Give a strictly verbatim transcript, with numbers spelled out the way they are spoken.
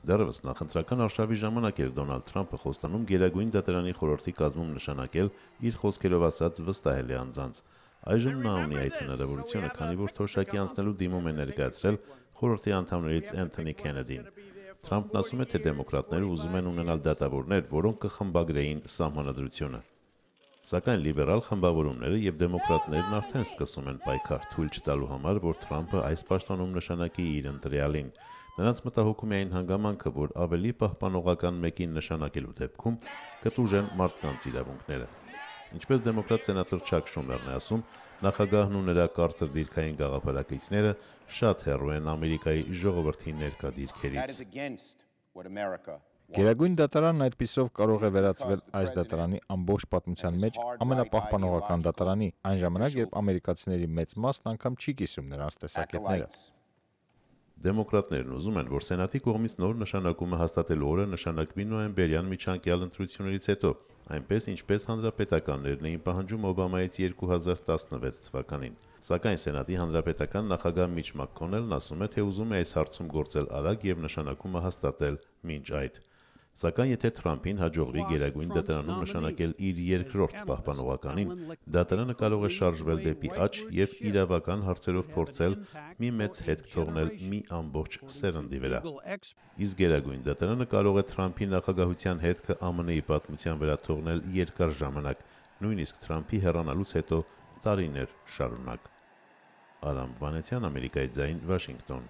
Դեռևս նախընտրական արշավի ժամանակ էր Դոնալդ Թրամփը խոստանում Գերագույն դատարանի խորհրդի կազմում նշանակել իր խոսքերով ասած վստահելի անձանց։ Այժմ նա ունի այդ հնարավորությունը, քանի որ թոշակի անցնելու դիմում է ներկայացրել խորհրդի անդամներից Էնթոնի Քենեդին։ Թրամփն ասում է, թե դեմոկրատները ուզում են ունենալ դատավորներ, որոնք կխմբագրեին սահմանադրությունը։ Սակայն լիբերալ խմբավորումները եւ դեմոկրատներն արդեն սկսում են պայքար թույլ չտալու համար, որ Թրամփը այս պաշտոնում նշանակի իր ընտրյալին։ Նրանց մտահոգում է այն հանգամանքը, որ ավելի պահպանողական մեկին նշանակելու դեպքում կտուժեն մարդկանց իրավունքները։ Ինչպես դեմոկրատ սենատոր Չակ Շումերն է ասում, նախագահն ու նրա կարծր դիրքային գաղափարակիցները շատ հեռու են Ամերիկայի ժողովրդի ներկա դիրքերից։ Գերագույն դատարանն այդպիսով կարող է վերածվել այս դատարանի ամբողջ պատմության մեջ ամենապահպանողական դատարանի, այն ժամանակ, երբ ամերիկացիների մեծ մասն անգամ չի կիսում նրանց տեսակետները։ Դեմոկրատներն ուզում են, որ Սենատի կողմից նոր նշանակումը հաստատելու օրը նշանակվի նոյեմբերյան միջանկյալ ընտրություններից հետո, այնպես ինչպես հանրապետականներն էին պահանջում Օբամայից երկու հազար տասնվեց թվականին։ Սակայն Սենատի հանրապետական նախագահ Միչ Մաքքոնելն ասում է, թե ուզում է այս հարցում գործել արագ եւ նշանակումը հաստատել մինչ այդ։ Սակայն եթե Թրամփին հաջողվի Գերագույն դատարանում նշանակել իր երկրորդ պահպանողականին, դատարանը կարող է շարժվել դեպի աջ եւ իրավական հարցերով փորձել մի մեծ հետք թողնել մի ամբողջ սերնդի վրա։ Իսկ Գերագույն դատարանը կարող է Թրամփի նախագահության հետքը ԱՄՆ Ի պատմության վրա թողնել երկար ժամանակ, նույնիսկ Թրամփի հեռանալուց հետո տարիներ շարունակ։ Արամ Վանեցյան, Ամերիկայի ձայն, Վաշինգտոն։